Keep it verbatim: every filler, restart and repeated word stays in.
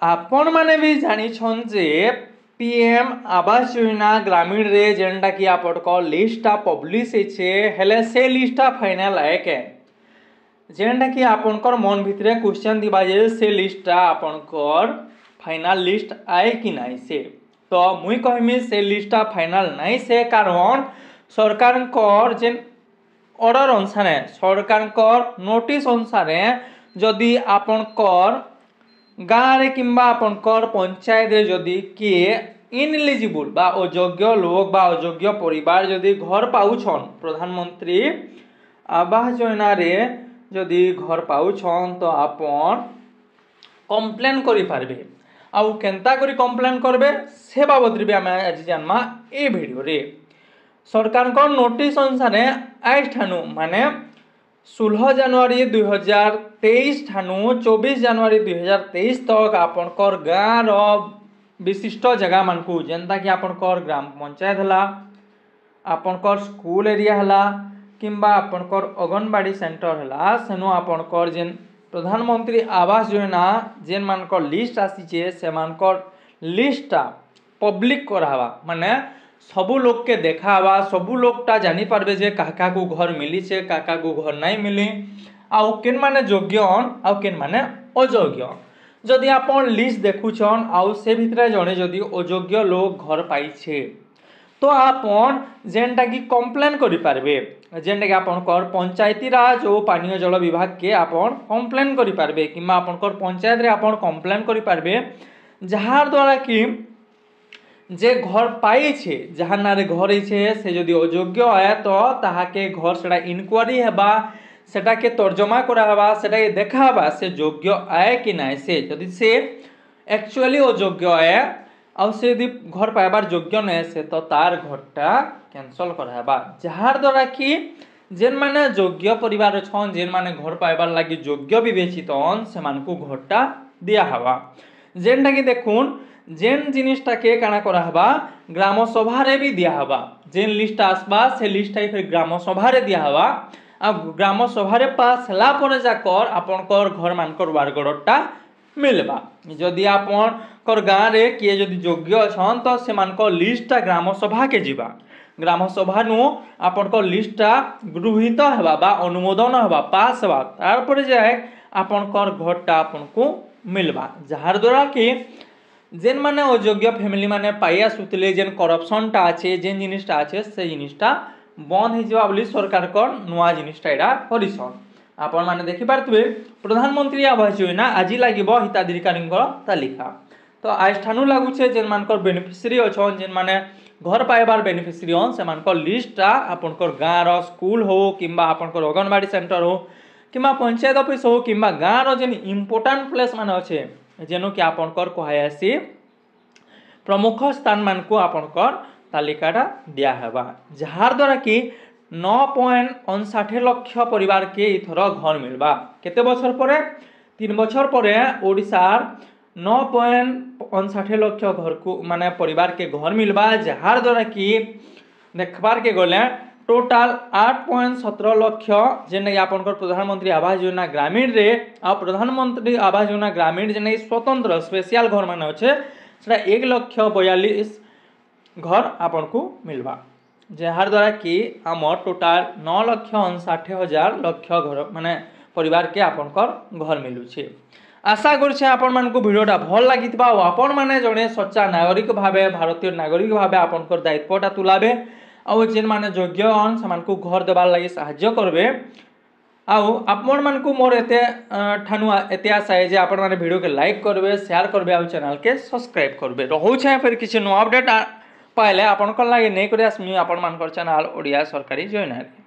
ଆପଣମାନେ ବି ଜାଣିଛନ୍ ଯେ P M Awas Yojana ଗ୍ରାମୀଣରେ ଯେନ୍ଟାକି ଆପଣଙ୍କ ଲିଷ୍ଟଟା ପବ୍ଲିଶ ହେଇଛେ ହେଲେ ସେ ଲିଷ୍ଟଟା ଫାଇନାଲ୍ ଆଏ କେଁ ଯେନ୍ଟାକି ଆପଣଙ୍କର ମନ ଭିତରେ କ୍ୱେଶ୍ଚନ୍ ଥିବା ଯେ ସେ ଲିଷ୍ଟଟା ଆପଣଙ୍କର ଫାଇନାଲ୍ ଲିଷ୍ଟ ଆଏ କି ନାଇଁ ସେ ତ ମୁଇଁ କହିମି ସେ ଲିଷ୍ଟଟା ଫାଇନାଲ୍ ନାଇଁ ସେ କାରଣ ସରକାରଙ୍କର ଯେନ୍ ଅର୍ଡ଼ର ଅନୁସାରେ ସରକାରଙ୍କର ନୋଟିସ୍ ଅନୁସାରେ ଯଦି ଆପଣଙ୍କର ଗାଁରେ କିମ୍ବା ଆପଣଙ୍କର ପଞ୍ଚାୟତରେ ଯଦି କିଏ ଇନଏଲିଜିବୁଲ୍ ବା ଅଯୋଗ୍ୟ ଲୋକ ବା ଅଯୋଗ୍ୟ ପରିବାର ଯଦି ଘର ପାଉଛନ୍ ପ୍ରଧାନମନ୍ତ୍ରୀ ଆବାସ ଯୋଜନାରେ ଯଦି ଘର ପାଉଛନ୍ ତ ଆପଣ କମ୍ପ୍ଲେନ୍ କରିପାରିବେ ଆଉ କେନ୍ତା କରି କମ୍ପ୍ଲେନ୍ କରିବେ ସେ ବାବଦରେ ବି ଆମେ ଆଜି ଜାନମା ଏ ଭିଡ଼ିଓରେ ସରକାରଙ୍କ ନୋଟିସ୍ ଅନୁସାରେ ଆଜ୍ ଠାନୁ ମାନେ ଷୋହଳ ଜାନୁଆରୀ ଦୁଇ ହଜାର ତେଇଶ ଠାନୁ ଚବିଶ ଜାନୁଆରୀ ଦୁଇ ହଜାର ତେଇଶ ତକ୍ ଆପଣଙ୍କର ଗାଁର ବିଶିଷ୍ଟ ଜାଗାମାନଙ୍କୁ ଯେନ୍ତାକି ଆପଣଙ୍କର ଗ୍ରାମ ପଞ୍ଚାୟତ ହେଲା ଆପଣଙ୍କର ସ୍କୁଲ ଏରିଆ ହେଲା କିମ୍ବା ଆପଣଙ୍କର ଅଙ୍ଗନବାଡ଼ି ସେଣ୍ଟର ହେଲା ସେନୁ ଆପଣଙ୍କର ଯେନ୍ ପ୍ରଧାନମନ୍ତ୍ରୀ ଆବାସ ଯୋଜନା ଯେନ୍ମାନଙ୍କର ଲିଷ୍ଟ ଆସିଛେ ସେମାନଙ୍କର ଲିଷ୍ଟଟା ପବ୍ଲିକ କରାହେବା ମାନେ ସବୁ ଲୋକକେ ଦେଖା ହେବା ସବୁ ଲୋକଟା ଜାଣିପାରିବେ ଯେ କାହା କାହାକୁ ଘର ମିଲିଛେ କାହା କାହାକୁ ଘର ନାଇଁ ମିଲି ଆଉ କେନ୍ମାନେ ଯୋଗ୍ୟ ଆଉ କେନ୍ମାନେ ଅଯୋଗ୍ୟ ଯଦି ଆପଣ ଲିଷ୍ଟ ଦେଖୁଛନ୍ ଆଉ ସେ ଭିତରେ ଜଣେ ଯଦି ଅଯୋଗ୍ୟ ଲୋକ ଘର ପାଇଛେ ତ ଆପଣ ଯେନ୍ଟାକି କମ୍ପ୍ଲେନ୍ କରିପାରିବେ ଯେନ୍ଟାକି ଆପଣଙ୍କର ପଞ୍ଚାୟତି ରାଜ ଓ ପାନୀୟ ଜଳ ବିଭାଗକେ ଆପଣ କମ୍ପ୍ଲେନ୍ କରିପାରିବେ କିମ୍ବା ଆପଣଙ୍କର ପଞ୍ଚାୟତରେ ଆପଣ କମ୍ପ୍ଲେନ୍ କରିପାରିବେ ଯାହାର ଦ୍ୱାରା କି ଯେ ଘର ପାଇଛେ ଯାହାର ନାଁରେ ଘର ହେଇଛେ ସେ ଯଦି ଅଯୋଗ୍ୟ ଆଏ ତ ତାହାକେ ଘର ସେଟା ଇନକ୍ୱାରି ହେବା ସେଟାକେ ତର୍ଜମା କରାହେବା ସେଟାକେ ଦେଖା ହେବା ସେ ଯୋଗ୍ୟ ଆଏ କି ନାଇଁ ସେ ଯଦି ସେ ଆକ୍ଚୁଆଲି ଅଯୋଗ୍ୟ ଆଏ ଆଉ ସେ ଯଦି ଘର ପାଇବାର ଯୋଗ୍ୟ ନାଇଁ ସେ ତ ତାର ଘରଟା କ୍ୟାନସଲ୍ କରାହେବା ଯାହାର ଦ୍ୱାରା କି ଯେନ୍ମାନେ ଯୋଗ୍ୟ ପରିବାର ଅଛନ୍ ଯେନ୍ମାନେ ଘର ପାଇବାର ଲାଗି ଯୋଗ୍ୟ ବିବେଚିତ ସେମାନଙ୍କୁ ଘରଟା ଦିଆହେବା ଯେନ୍ଟାକି ଦେଖୁନ୍ ଯେନ୍ ଜିନିଷଟାକେ କାଣା କରାହେବା ଗ୍ରାମ ସଭାରେ ବି ଦିଆହେବା ଯେନ୍ ଲିଷ୍ଟଟା ଆସବା ସେ ଲିଷ୍ଟଟା ଫେର୍ ଗ୍ରାମ ସଭାରେ ଦିଆହେବା ଆଉ ଗ୍ରାମ ସଭାରେ ପାସ୍ ହେଲା ପରେ ଯାକର ଆପଣଙ୍କର ଘରମାନଙ୍କର ୱାର୍କ ଅର୍ଡ଼ରଟା ମିଲବା ଯଦି ଆପଣଙ୍କର ଗାଁରେ କିଏ ଯଦି ଯୋଗ୍ୟ ଅଛନ୍ ତ ସେମାନଙ୍କ ଲିଷ୍ଟଟା ଗ୍ରାମ ସଭାକେ ଯିବା ଗ୍ରାମ ସଭାନୁ ଆପଣଙ୍କ ଲିଷ୍ଟଟା ଗୃହୀତ ହେବା ବା ଅନୁମୋଦନ ହେବା ପାସ୍ ହେବା ତାରପରେ ଯାଏ ଆପଣଙ୍କର ଘରଟା ଆପଣଙ୍କୁ ମିଲବା ଯାହାର ଦ୍ୱାରା କି ଯେନ୍ମାନେ ଅଯୋଗ୍ୟ ଫ୍ୟାମିଲି ମାନେ ପାଇ ଆସୁଥିଲେ ଯେନ୍ କରପସନ୍ଟା ଅଛି ଯେନ୍ ଜିନିଷଟା ଅଛି ସେ ଜିନିଷଟା ବନ୍ଦ ହେଇଯିବା ବୋଲି ସରକାରଙ୍କର ନୂଆ ଜିନିଷଟା ଏଇଟା କରିଛନ୍ ଆପଣମାନେ ଦେଖିପାରୁଥିବେ ପ୍ରଧାନମନ୍ତ୍ରୀ ଆବାସ ଯୋଜନା ଆଜି ଲାଗିବ ହିତାଧିକାରୀଙ୍କର ତାଲିକା ତ ଆଜ ଠାନୁ ଲାଗୁଛେ ଯେନ୍ମାନଙ୍କର ବେନିଫିସିଆରୀ ଅଛନ୍ ଯେନ୍ମାନେ ଘର ପାଇବାର ବେନିଫିସିଆରୀ ଅନ୍ ସେମାନଙ୍କର ଲିଷ୍ଟଟା ଆପଣଙ୍କର ଗାଁର ସ୍କୁଲ ହଉ କିମ୍ବା ଆପଣଙ୍କର ଅଙ୍ଗନବାଡ଼ି ସେଣ୍ଟର ହଉ କିମ୍ବା ପଞ୍ଚାୟତ ଅଫିସ ହଉ କିମ୍ବା ଗାଁର ଯେନ୍ ଇମ୍ପୋର୍ଟାଣ୍ଟ ପ୍ଲେସ୍ ମାନେ ଅଛେ ଯେନୁ କି ଆପଣଙ୍କର କୁହାଯାଏସି ପ୍ରମୁଖ ସ୍ଥାନମାନଙ୍କୁ ଆପଣଙ୍କର ତାଲିକାଟା ଦିଆହେବା ଯାହାର ଦ୍ୱାରା କି ନଅ ପଏଣ୍ଟ ଅଣଷାଠି ଲକ୍ଷ ପରିବାରକେ ଏଥର ଘର ମିଲବା କେତେ ବଛର ପରେ ତିନି ବଛର ପରେ ଓଡ଼ିଶାର ନଅ ପଏଣ୍ଟ ଅଣଷାଠି ଲକ୍ଷ ଘରକୁ ମାନେ ପରିବାରକେ ଘର ମିଲବା ଯାହାର ଦ୍ୱାରା କି ଦେଖବାର୍କେ ଗଲେ ଟୋଟାଲ ଆଠ ପଏଣ୍ଟ ସତର ଲକ୍ଷ ଯେନ୍ଟାକି ଆପଣଙ୍କର ପ୍ରଧାନମନ୍ତ୍ରୀ ଆବାସ ଯୋଜନା ଗ୍ରାମୀଣରେ ଆଉ ପ୍ରଧାନମନ୍ତ୍ରୀ ଆବାସ ଯୋଜନା ଗ୍ରାମୀଣ ଯେନ୍ଟାକି ସ୍ୱତନ୍ତ୍ର ସ୍ପେଶିଆଲ ଘର ମାନେ ଅଛେ ସେଟା ଏକ ଲକ୍ଷ ବୟାଳିଶ ଘର ଆପଣଙ୍କୁ ମିଲବା ଯାହାର ଦ୍ୱାରା କି ଆମର ଟୋଟାଲ ନଅ ଲକ୍ଷ ଅଣଷାଠି ହଜାର ଲକ୍ଷ ଘର ମାନେ ପରିବାରକେ ଆପଣଙ୍କର ଘର ମିଲୁଛେ ଆଶା କରୁଛେ ଆପଣମାନଙ୍କୁ ଭିଡ଼ିଓଟା ଭଲ ଲାଗିଥିବା ଆଉ ଆପଣମାନେ ଜଣେ ସଚ୍ଚା ନାଗରିକ ଭାବେ ଭାରତୀୟ ନାଗରିକ ଭାବେ ଆପଣଙ୍କର ଦାୟିତ୍ୱଟା ତୁଲାବେ ଆଉ ଯେନ୍ମାନେ ଯୋଗ୍ୟ ଅନ୍ ସେମାନଙ୍କୁ ଘର ଦେବାର୍ ଲାଗି ସାହାଯ୍ୟ କରିବେ ଆଉ ଆପଣମାନଙ୍କୁ ମୋର ଏତେ ଠାନୁ ଏତେ ଆଶା ଯେ ଆପଣମାନେ ଭିଡ଼ିଓକେ ଲାଇକ୍ କରିବେ ସେୟାର କରିବେ ଆଉ ଚ୍ୟାନେଲ୍କେ ସବସ୍କ୍ରାଇବ୍ କରିବେ ରହୁଛେ ଫେର୍ କିଛି ନୂଆ ଅପଡ଼େଟ୍ ପାଇଲେ ଆପଣଙ୍କର ଲାଗି ନେଇକରି ଆସମି ଆପଣମାନଙ୍କର ଚ୍ୟାନେଲ୍ ଓଡ଼ିଆ ସରକାରୀ ଯୋଜନାରେ।